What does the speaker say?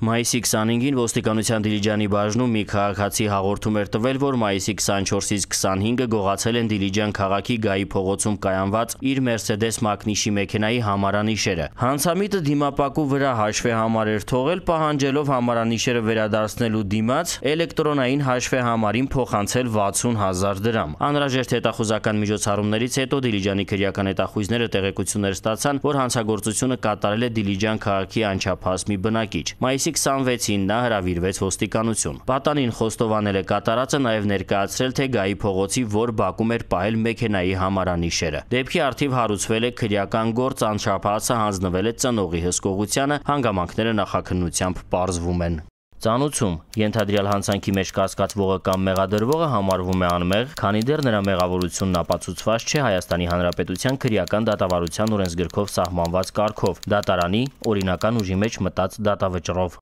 Մայիսի 25-ին ոստիկանության Դիլիջանի բաժնում մի քաղաքացի հաղորդում էր տվել, որ մայիսի 24-ից 25-ը գողացել են Դիլիջան քաղաքի Գայի փողոցում կայանված իր Mercedes մակնիշի մեքենայի համարանիշերը։ Հանցամիտը դիմապակու վրա հաշվեհամար էր թողել, պահանջելով համարանիշերը վերադարձնելու դիմաց էլեկտրոնային հաշվեհամարին փոխանցել 60,000 դրամ։ Անհրաժեշտ հետախուզական միջոցառումներից հետո Դիլիջանի քրեական հետախույզները տեղեկություններ ստացան, որ հանցագործությունը կատարել է Դիլիջան քաղաքի անչափահաս մի բնակիչ։ Մայիսի 26-ին նա հրավիրվեց ոստիկանություն։ Պատանին խոստովանել է կատարածը, նաև ներկայացրել, թե Գայի փողոցի որ բակում էր պահել մեքենայի համարանիշերը։ Դեպքի առթիվ հարուցվել է քրեական գործ, անչափահասը հանձնվել է ծնողի հսկողությանը, հանգամանքները նախաքննությամբ պարզվում են։ Ծանուցում ենթադրյալ հանցանքի մեջ կասկածվողը կամ մեղադրվողը համարվում է անմեղ, քանի դեռ նրա մեղավորությունն ապացուցված չէ Հայաստանի Հանրապետության քրեական դատավարության օրենսգրքով սահմանված կարգով՝ դատարանի օրինական ուժի մեջ մտած դատավճռով։